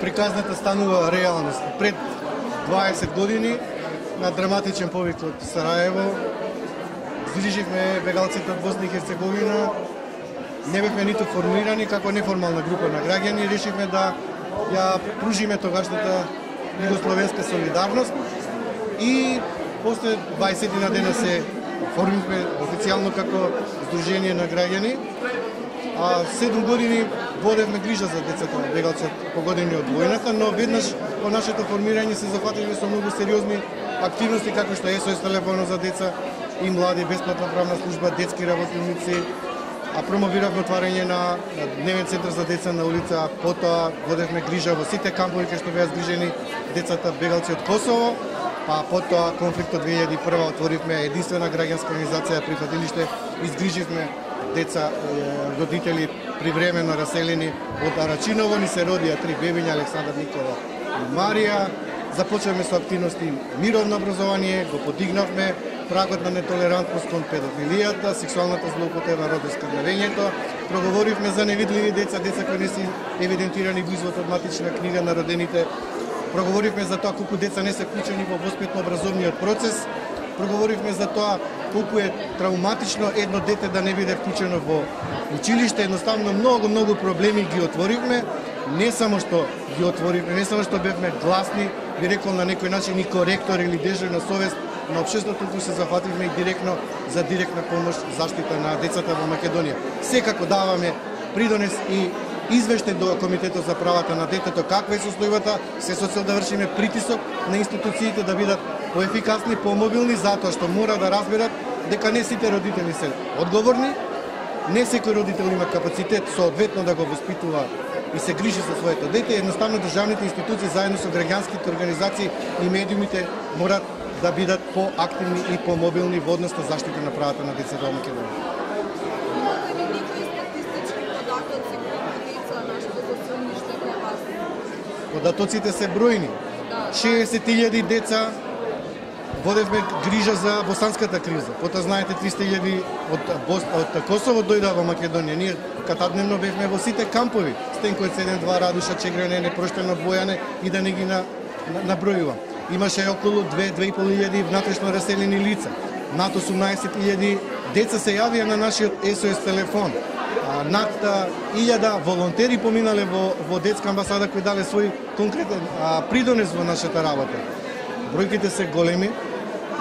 приказната станува реалност. Пред 20 години на драматичен повик од Сараево здруживме бегалците од Босна и Херцеговина. Не бевме ниту формирани како неформална група на граѓани, решивме да ја пружиме тогашната југословенска солидарност и после 20 на дена се формивме официјално како Сдружение на граѓани. 7 години водевме грижа за децата бегалци погодени од војната, но веднаш по нашето формирање се зафативме со многу сериозни активности како што е СОС телефоно за деца и млади, бесплатна правна служба, детски работници, промовиравме отварање на дневен центар за деца на улица, потоа водевме грижа во сите кампови кај што беа згрижени децата бегалци од Косово, потоа конфликтот 2001 отворивме единствена граѓанска организација прифатилиште, изгриживме деца, родители привремено раселени од Арачиново, ни се родија 3 бебиња, Александар, Никола и Марија. Започнавме со активности мировно образование, го подигнавме прагот на нетолерантност кон педофилијата, сексуалната злоупотреба, родоскрвнавењето, проговоривме за невидливи деца, деца кои не се евидентирани во извод од матична книга на родените, проговоривме за тоа колку деца не се вклучени во воспитно-образовниот процес, проговоривме за тоа колку е травматично едно дете да не биде вклучено во училиште, едноставно многу проблеми ги отворивме, не само што ги отворивме, не само што бевме гласни, би рекол на некој начин и коректор или дежур на совест на општеството, туку се зафативме и директно за директна помош заштита на децата во Македонија. Секако даваме придонес и извештај до Комитетот за правата на детето каква е состојбата, се со цел да вршиме притисок на институциите да бидат поефикасни, помобилни, затоа што мора да разберат дека не сите родители се одговорни, не секој родител има капацитет соодветно да го воспитува и се грижи за своето дете, едноставно државните институции заедно со граѓанските организации и медиумите морат да бидат поактивни и помобилни во однос на заштита на правата на децата во Македонија. Податоците се бројни. 60.000 деца водевме грижа за босанската криза. Потоа знаете 300.000 од Косово дојдоа во Македонија. Ние катадневно бевме во сите кампови. Стенкој 7-2, Радуша, Чегрене, Непроштено, Бојане и да не ги набројувам. Имаше околу 2-2.500 внатрешно раселени лица. Над 18.000 деца се јавија на нашиот СОС телефон. Над 1000 волонтери поминале во детска амбасада кои дале свој конкретен придонес во нашата работа. Бројките се големи,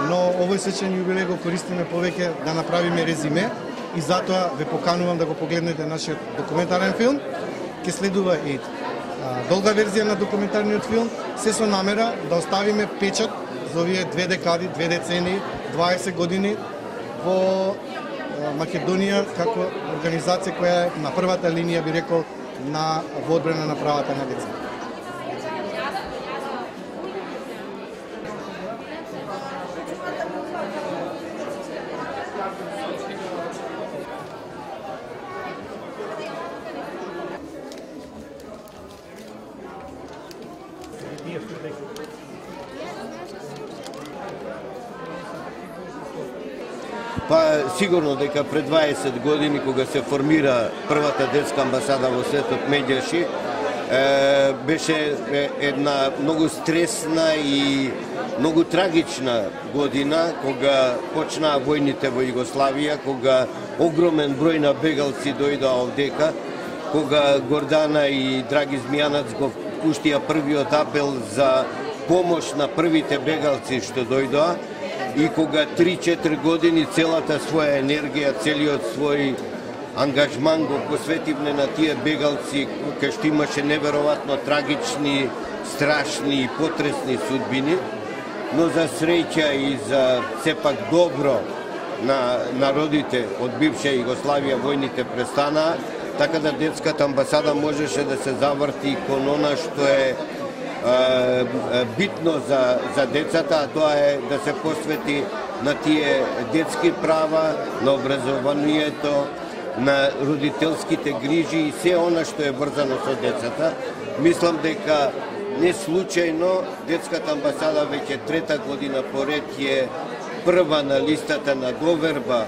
но овој свечен јубилеј го користиме повеќе да направиме резиме и затоа ве поканувам да го погледнете нашиот документарен филм. Ке следува и долга верзија на документарниот филм, се со намера да оставиме печат за овие 2 декади, 2 децени, 20 години во Македонија како организација која е на првата линија, би рекол, во одбрана на правата на деца. Сигурно дека пред 20 години, кога се формира првата детска амбасада во светот Медјаши, беше една многу стресна и многу трагична година, кога почнаа војните во Југославија, кога огромен број на бегалци дојдоа овдека, кога Гордана и Драги Змијанац го пуштија првиот апел за помош на првите бегалци што дојдоа, и кога 3-4 години целата своја енергија, целиот свој ангажман го посветивме на тие бегалци, кај што имаше неверојатно трагични, страшни и потресни судбини, но за среќа и за сепак добро на народите од бивша Југославија војните престанаа, така да детската амбасада можеше да се заврти кон она што е битно за децата, а тоа е да се посвети на тие детски права, на образованието, на родителските грижи и се она што е врзано со децата. Мислам дека не случајно детската амбасада веќе 3-та година поред е прва на листата на доверба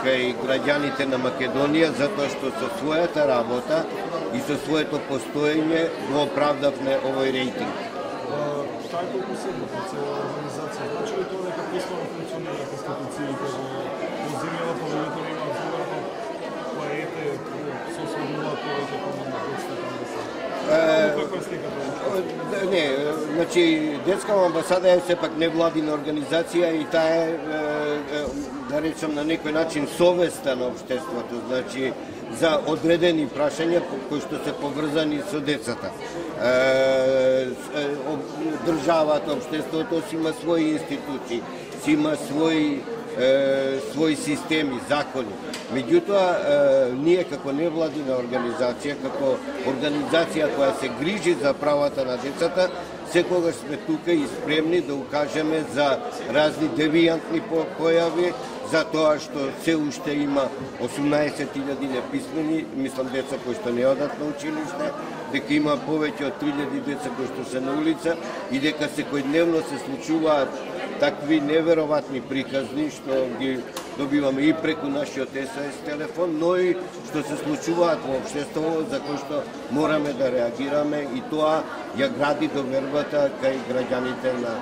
кај граѓаните на Македонија, затоа што со својата работа и со своето постоење го оправдавме овој рейтинг. Таа е толку седната цела организација. Значи ли тоа дека послано функционираат институциите во земјава повеќе има зоварно поете сословуваат повеќе помага детската амбасада? Каква е сликата? Не, значи детската амбасада е сепак невладина организација и таа е, да речем на некој начин совеста на општеството, значи за одредени прашања кои што се поврзани со децата. Државата, општеството си има своји институции, си има своји системи, закони. Меѓутоа, ние како невладина организација, како организација која се грижи за правата на децата, секогаш сме тука и спремни да укажеме за разни девијантни појави, за тоа што се уште има 18.000 неписмени, мислам деца кои што не одат на училиште, дека има повеќе од 3.000 деца кои што се на улица и дека секојдневно се случуваат такви неверојатни приказни што ги добиваме и преку нашиот СОС телефон, но и што се случуваат во општеството за кои што мораме да реагираме и тоа ја гради довербата кај граѓаните на